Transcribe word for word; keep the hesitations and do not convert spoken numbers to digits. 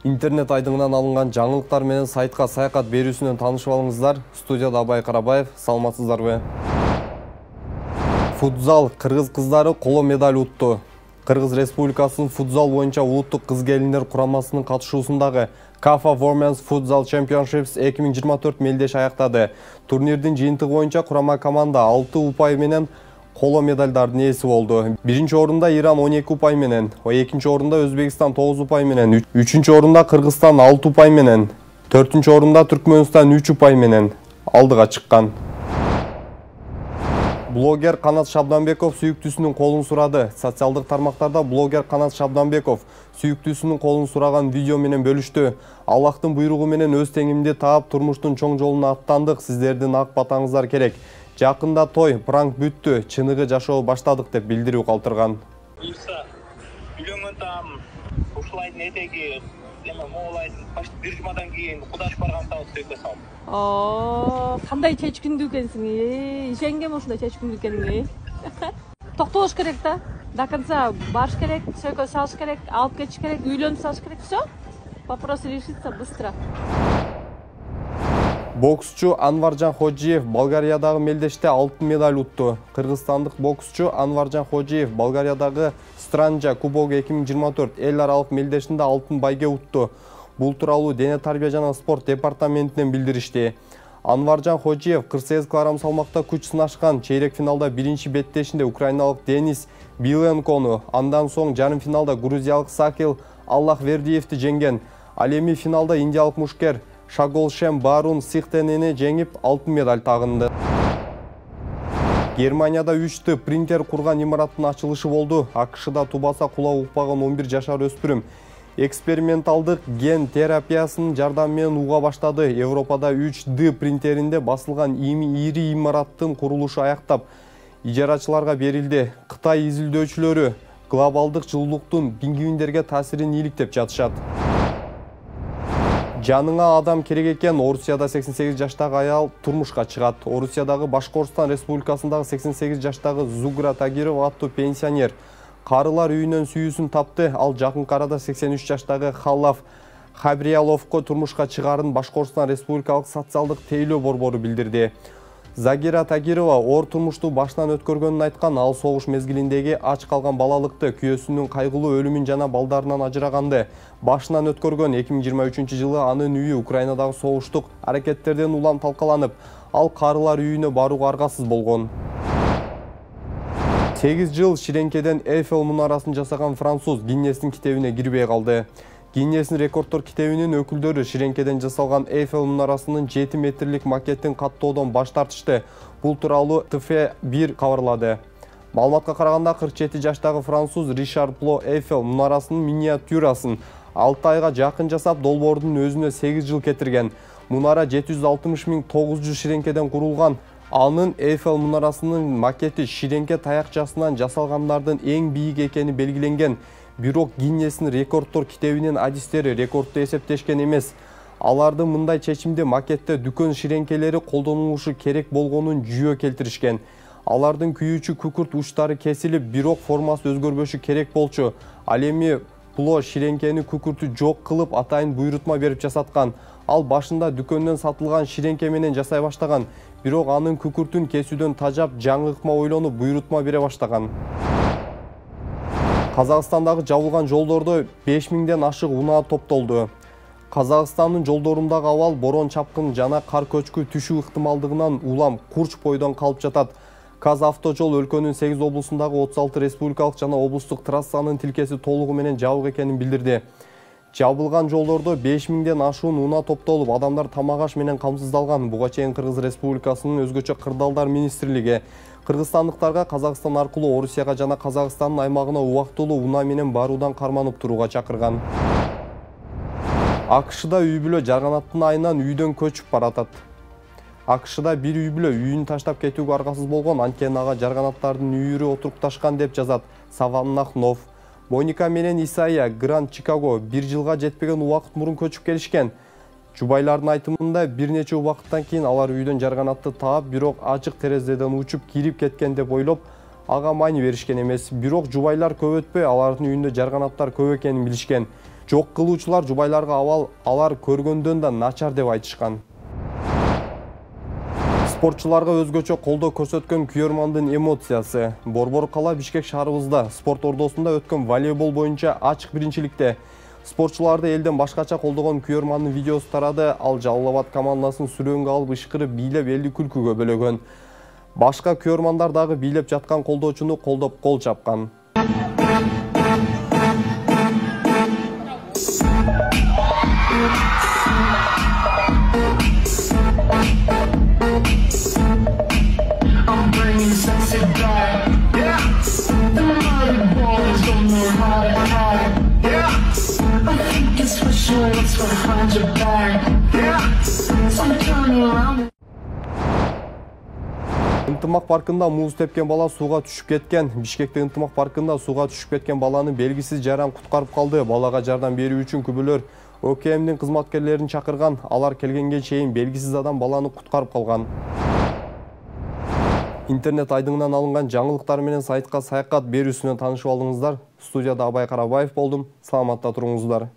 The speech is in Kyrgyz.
Интернет айдыңынан алынган жаңылыктар менен сайтка саякат берүүсүнөн таанышып алыңыздар. Студияда Абай Карабаев, саламатсыздарбы? Футзал кыргыз кыздары коло медаль утту. Кыргыз Республикасынын футзал боюнча улуттук кыз-келиндер курамасынын катышуусундагы Кафа Women's Futsal Championships эки миң жыйырма төрт мелдеш аяктады. Турнирдин жыйынтыгы боюнча курама команда алты упай менен коло медальдардын ээси болду. Биринчи орунда Иран он эки упай менен, экинчи орунда Өзбекстан тогуз упай менен, үчүнчү орунда Кыргызстан алты упай менен, төртүнчү орунда Түркмөнстан үч упай менен алдыга чыккан. Блогер Канат Шабданбеков сүйүктүүсүнүн колун сурады. Социалдык тармактарда блогер Канат Шабданбеков сүйүктүүсүнүн колун сураган видео менен бөлүштү. Аллахтын буйругу менен өз теңимди таап турмуштун чоң жолуна аттандык. Сиздердин ак батаңыздар керек. Жакында той, пранк бүттү, чыныгы жашоо баштадык деп билдирүү калтырган. Буйрса, үйлөнгөн там, ушулайдын этеги, эме моолайдын бир жумадан кийин кудаш барган табыз сөйкө салып. Оо, кандай чечкиндүү экенсиң, э? Ишенгем ушундай чечкиндүү экениңе. Токтолуш керек да. До конца барыш керек, сөйкө салыш керек, алып кетиш керек, үйлөнүп салыш керек. Всё. Вопрос решится быстро. Боксчу Анваржан Ходжиев Болгариядагы мелдеште алтын медаль утту. Кыргызстандык боксчу Анваржан Ходжиев Болгариядагы Странжа кубогу эки миң жыйырма төрт эл аралык мелдешинде алтын байге утту. Бул тууралуу Дене тарбия жана спорт департаментинен билдиришти. Анваржан Ходжиев кырк сегиз килограмм салмакта күч сынашкан. Чейрек финалда биринчи беттешинде украиналык Денис Биленкону, андан соң жарым финалда грузиялык Сакил Аллахвердиевди жеңген. Ал эми финалда индиялык мушкер Шаголшем Барун Сихтенени жеңип алтын медаль тагынды. Германияда үч Д принтер курган имараттын ачылышы болду. АКШда тубаса кулак укпаган он бир жашар өспүрүм эксперименталдык ген терапиясынын жардамы менен уга баштады. Европада үч Д принтеринде басылган ири имараттын курулушу аяктап, ижарачыларга берилди. Кытай изилдөөчүлөрү глобалдык жылуулуктун пингвиндерге таасирин ийгиликтеп жатышат. Жаныңа адам керек экен. Орусияда сексен сегиз жаштагы аял турмушка чыгат. Орусиядагы Башкортостан Республикасындагы сексен сегиз жаштагы Зугра Тагирова аттуу пенсионер карылар үйүнөн сүйүүсүн тапты. Ал жакынкы арада сексен үч жаштагы Халлаф Хабрияловго турмушка чыгаарын Башкортостан Республикалык социалдык тейлөө борбору билдирди. Загира Тагирова оор турмушту башынан өткөргөнүн айткан. Ал согуш мезгилиндеги ач калган балалыкты, күйөөсүнүн кайгылуу өлүмүн жана балдарынан ажыраганды башынан өткөргөн. эки миң жыйырма үчүнчү жылы анын үйү Украинадагы согуштук аракеттерден улам талкаланып, ал карылар үйүнө барууга аргасыз болгон. сегиз жыл ширеңкеден Эйфел мунарасын жасаган француз Гиннестин китебине кирбей калды. Гиннестин рекордтор китебинин өкүлдөрү ширеңкеден жасалган Эйфел мунарасынын жети метрлик макетин каттоодон баш тартышты. Бул тууралуу Т Ф бир кабарлады. Маалыматка караганда кырк жети жаштагы француз Ришар Пло Эйфел мунарасынын миниатюрасын алты айга жакын жасап, долбоордун өзүнө сегиз жыл кетирген. Мунара жети жүз алтымыш миң тогуз жүз ширеңкеден курулган. Анын Эйфел мунарасынын макети ширеңке таякчасынан жасалгандардын эң бийик экени белгиленген. Бирок Гиннестин рекордтор китебинин адистери рекордду эсептешкен эмес. Алардын мындай чечимди макетте дүкөн ширеңкелери колдонулушу керек болгонун жүйө келтиришкен. Алардын күйүүчү күкүрт учтары кесилип, бирок формасы өзгөрбөшү керек болчу. Ал эми Пло ширеңкени күкүртү жок кылып, атайын буйрутма берип жасаткан. Ал башында дүкөндөн сатылган ширеңке менен жасай баштаган, бирок анын күкүртүн кесүүдөн тажап, жаңы ыкма ойлонуп, буйрутма бере баштаган. Казакстандагы жабылган жолдордо беш миңден ашык унаа топтолду. Казакстандын жолдорундагы абал борон чапкын жана кар көчкү түшүү ыктымалдыгынан улам курч бойдон калып жатат. Казавтожол өлкөнүн сегиз облусундагы отуз алты республикалык жана облустук трассанын тилкеси толугу менен жабык экенин билдирди. Жабылган жолдордо беш миңден ашуун унаа топтолуп, адамдар тамак аш менен камсыздалган. Буга чейин Кыргыз Республикасынын өзгөчө кырдаалдар министрлиги кыргызстандыктарга Казакстан аркылуу Орусияга жана Казакстандын аймагына убактылуу унаа менен баруудан карманып турууга чакырган. АКШда үй бүлө жарганаттын айынан үйдөн көчүп баратат. АКШда бир үй бүлө үйүн таштап кетүүгө аргасыз болгон, анткени ага жарганаттардын үйүрү отурукташкан деп жазат Саваннахнов. Моника менен Исайя Гранд Чикаго бир жылга жетпеген убакыт мурун көчүп келишкен. Жубайлардын айтымында бир нече убакыттан кийин алар үйдөн жарганатты таап, бирок ачык терезеден учуп кирип кеткен деп ойлоп, ага маани беришкен эмес. Бирок жубайлар көп өтпөй алардын үйүндө жарганаттар көп экенин билишкен. Жок кылуучулар жубайларга абал алар көргөндөн да начар деп айтышкан. Спортчуларга өзгөчө колдоо көрсөткөн күйөрмандын эмоциясы. Борбор кала Бишкек шаарыбызда спорт ордосунда өткөн волейбол боюнча ачык биринчиликте спортчуларды элден башкача колдогон күйөрмандын видеосу тарады. Ал Жалал Абад командасын сүрөөнгө алып ышкырып бийлеп элди күлкүгө бөлөгөн. Башка күйөрмандар дагы бийлеп жаткан колдоочуну колдоп кол чапкан. Ынтымак паркында муз тепкен бала сууга түшүп кеткен. Бишкекте Ынтымак паркында сууга түшүп кеткен баланы белгисиз жаран куткарып калды. Балага жардам берүү үчүн күбөлөр О К М'дин кызматкерлерин чакырган. Алар келгенге чейин белгисиз адам баланы куткарып калган. Интернет айдыңынан алынган жаңылыктар менен сайтка саякат берүүсүнөн таанышып алдыңыздар. Студияда Абай Карабаев болдум. Саламатта туруңуздар.